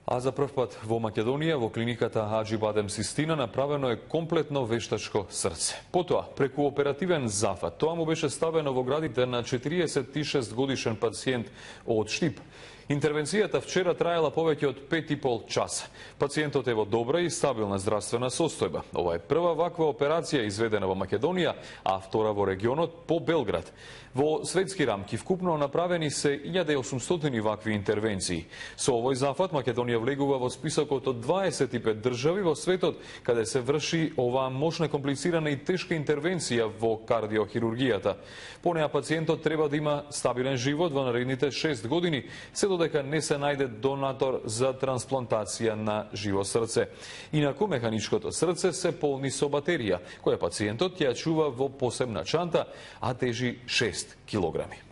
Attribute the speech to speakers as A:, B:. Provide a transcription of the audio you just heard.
A: А за прв пат во Македонија, во клиниката Аџи-Бадем Систина, направено е комплетно вештачко срце. Потоа, преку оперативен зафат, тоа му беше ставено во градите на 46 годишен пациент од Штип. Интервенцијата вчера траела повеќе од 5,5 часа. Пациентот е во добра и стабилна здравствена состојба. Ова е прва ваква операција изведена во Македонија, а втора во регионот по Белград. Во светски рамки вкупно направени се 1800 вакви интервенции. Со овој зафат Македонија влегува во списокот од 25 држави во светот каде се врши оваа мощна, комплицирана и тешка интервенција во кардиохирургијата. По неа пациентот треба да има стабилен живот во наредните 6 години, се додека не се најде донатор за трансплантација на живо срце. Инаку механичкото срце се полни со батерија, која пациентот ќе ја чува во посебна чанта, а тежи 6 килограми.